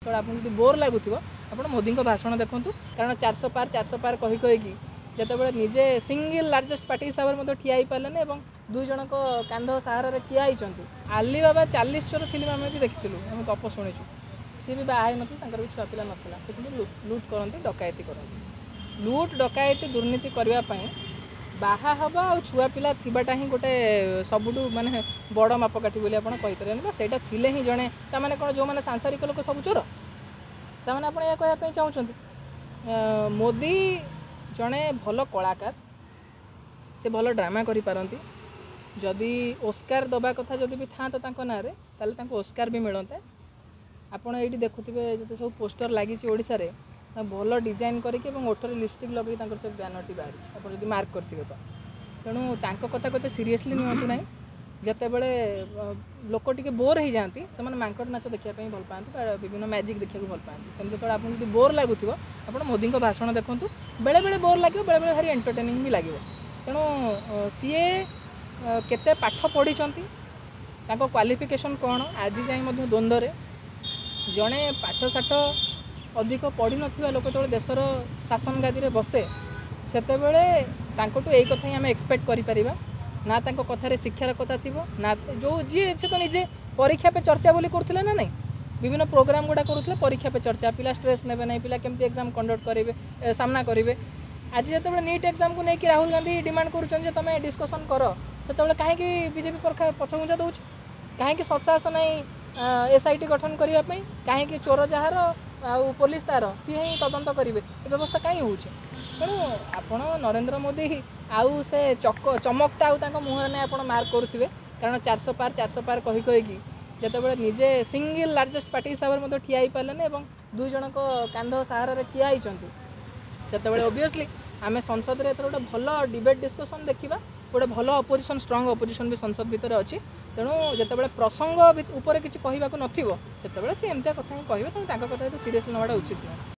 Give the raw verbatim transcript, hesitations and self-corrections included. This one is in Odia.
ଯେତେବେଳେ ଆପଣଙ୍କୁ ଯଦି ବୋର୍ ଲାଗୁଥିବ, ଆପଣ ମୋଦିଙ୍କ ଭାଷଣ ଦେଖନ୍ତୁ। କାରଣ ଚାରିଶହ ପାର, ଚାରିଶହ ପାର କହି କହିକି ଯେତେବେଳେ ନିଜେ ସିଙ୍ଗିଲ୍ ଲାର୍ଜେଷ୍ଟ ପାର୍ଟି ହିସାବରେ ମଧ୍ୟ ଠିଆ ହେଇପାରିଲେନି ଏବଂ ଦୁଇ ଜଣଙ୍କ କାନ୍ଧ ସାହାରାରେ ଠିଆ ହେଇଛନ୍ତି। ଆଲିବାବା ଚାଲିଶ ଚୋର ଫିଲ୍ମ ଆମେ ବି ଦେଖିଥିଲୁ, ଆମେ ଗପ ଶୁଣିଛୁ। ସିଏ ବି ବାହା ହେଇନଥିଲେ, ତାଙ୍କର ବି ଛୁଆ ପିଲା ନଥିଲା, ସେ କିନ୍ତୁ ଲୁଟ୍ କରନ୍ତି, ଡକାୟତି କରନ୍ତି। ଲୁଟ୍, ଡକାୟତି, ଦୁର୍ନୀତି କରିବା ପାଇଁ ବାହା ହେବା ଆଉ ଛୁଆ ପିଲା ଥିବାଟା ହିଁ ଗୋଟେ ସବୁଠୁ ମାନେ ବଡ଼ ମାପକାଠି ବୋଲି ଆପଣ କହିପାରିବେନି। ବା ସେଇଟା ଥିଲେ ହିଁ ଜଣେ, ତାମାନେ କ'ଣ ଯେଉଁମାନେ ସାଂସାରିକ ଲୋକ ସବୁ ଚୋର? ତାମାନେ ଆପଣ ଏହା କହିବା ପାଇଁ ଚାହୁଁଛନ୍ତି? ମୋଦି ଜଣେ ଭଲ କଳାକାର, ସେ ଭଲ ଡ୍ରାମା କରିପାରନ୍ତି। ଯଦି ଓସ୍କାର ଦେବା କଥା ଯଦି ବି ଥାନ୍ତା ତାଙ୍କ ନାଁରେ, ତାହେଲେ ତାଙ୍କୁ ଓସ୍କାର ବି ମିଳନ୍ତା। ଆପଣ ଏଇଠି ଦେଖୁଥିବେ ଯେତେ ସବୁ ପୋଷ୍ଟର ଲାଗିଛି ଓଡ଼ିଶାରେ, ଭଲ ଡିଜାଇନ୍ କରିକି ଏବଂ ଓଠରେ ଲିପଷ୍ଟିକ୍ ଲଗେଇକି ତାଙ୍କର ସେ ବ୍ୟାନରଟି ବାହାରିଛି, ଆପଣ ଯଦି ମାର୍କ କରିଥିବେ ତ। ତେଣୁ ତାଙ୍କ କଥାକୁ ଏତେ ସିରିୟସଲି ନିଅନ୍ତୁ ନାହିଁ। ଯେତେବେଳେ ଲୋକ ଟିକେ ବୋର୍ ହେଇଯାଆନ୍ତି, ସେମାନେ ମାଙ୍କଡ଼ ନାଚ ଦେଖିବା ପାଇଁ ଭଲ ପାଆନ୍ତି ବା ବିଭିନ୍ନ ମ୍ୟାଜିକ୍ ଦେଖିବାକୁ ଭଲ ପାଆନ୍ତି। ସେମିତି ଯେତେବେଳେ ଆପଣଙ୍କୁ ଯଦି ବୋର୍ ଲାଗୁଥିବ, ଆପଣ ମୋଦିଙ୍କ ଭାଷଣ ଦେଖନ୍ତୁ। ବେଳେବେଳେ ବୋର୍ ଲାଗିବ, ବେଳେବେଳେ ଭାରି ଏଣ୍ଟରଟେନିଂ ବି ଲାଗିବ। ତେଣୁ ସିଏ କେତେ ପାଠ ପଢ଼ିଛନ୍ତି, ତାଙ୍କ କ୍ୱାଲିଫିକେସନ୍ କ'ଣ, ଆଜି ଯାଏଁ ମଧ୍ୟ ଦ୍ୱନ୍ଦ୍ୱରେ। ଜଣେ ପାଠଶାଠ ଅଧିକ ପଢ଼ିନଥିବା ଲୋକ ଯେତେବେଳେ ଦେଶର ଶାସନ ଗାଦିରେ ବସେ, ସେତେବେଳେ ତାଙ୍କଠୁ ଏଇ କଥା ହିଁ ଆମେ ଏକ୍ସପେକ୍ଟ କରିପାରିବା ନା ତାଙ୍କ କଥାରେ ଶିକ୍ଷାର କଥା ଥିବ ନା ଯେଉଁ ଯିଏ ସେ ତ ନିଜେ ପରୀକ୍ଷା ପେ ଚର୍ଚ୍ଚା ବୋଲି କରୁଥିଲେ ନା ନାହିଁ, ବିଭିନ୍ନ ପ୍ରୋଗ୍ରାମ ଗୁଡ଼ା କରୁଥିଲେ ପରୀକ୍ଷା ପେ ଚର୍ଚ୍ଚା। ପିଲା ଷ୍ଟ୍ରେସ୍ ନେବେ ନାହିଁ, ପିଲା କେମିତି ଏକ୍ଜାମ୍ କଣ୍ଡକ୍ଟ କରିବେ, ସାମ୍ନା କରିବେ। ଆଜି ଯେତେବେଳେ ନିଟ୍ ଏକ୍ଜାମ୍କୁ ନେଇକି ରାହୁଲ ଗାନ୍ଧୀ ଡିମାଣ୍ଡ କରୁଛନ୍ତି ଯେ ତୁମେ ଡିସ୍କସନ୍ କର, ସେତେବେଳେ କାହିଁକି ବିଜେପି ପଛଘୁଞ୍ଚା ଦେଉଛି? କାହିଁକି ସତ୍ସାହସ ନାହିଁ ଏସ୍ I T ଗଠନ କରିବା ପାଇଁ? କାହିଁକି ଚୋର ଯାହାର ଆଉ ପୋଲିସ ତାର, ସିଏ ହିଁ ତଦନ୍ତ କରିବେ, ଏ ବ୍ୟବସ୍ଥା କାହିଁ ହେଉଛି? ତେଣୁ ଆପଣ ନରେନ୍ଦ୍ର ମୋଦି ଆଉ ସେ ଚକ ଚମକଟା ଆଉ ତାଙ୍କ ମୁହଁରେ ନାହିଁ, ଆପଣ ମାର୍କ କରୁଥିବେ। କାରଣ ଚାରିଶହ ପାର, ଚାରିଶହ ପାର କହି କହିକି ଯେତେବେଳେ ନିଜେ ସିଙ୍ଗିଲ୍ ଲାର୍ଜେଷ୍ଟ ପାର୍ଟି ହିସାବରେ ମଧ୍ୟ ଠିଆ ହେଇପାରିଲେନି ଏବଂ ଦୁଇ ଜଣଙ୍କ କାନ୍ଧ ସାହାରାରେ ଠିଆ ହେଇଛନ୍ତି, ସେତେବେଳେ ଅବଭିୟସଲି ଆମେ ସଂସଦରେ ଏଥର ଗୋଟେ ଭଲ ଡିବେଟ୍ ଡିସ୍କସନ୍ ଦେଖିବା। ଗୋଟେ ଭଲ ଅପୋଜିସନ୍, ଷ୍ଟ୍ରଙ୍ଗ ଅପୋଜିସନ୍ ବି ସଂସଦ ଭିତରେ ଅଛି। ତେଣୁ ଯେତେବେଳେ ପ୍ରସଙ୍ଗ ଉପରେ କିଛି କହିବାକୁ ନଥିବ, ସେତେବେଳେ ସେ ଏମିତିଆ କଥା ହିଁ କହିବେ। ତେଣୁ ତାଙ୍କ କଥା ଏତେ ସିରିୟସଲି ନେବାଟା ଉଚିତ ନୁହେଁ।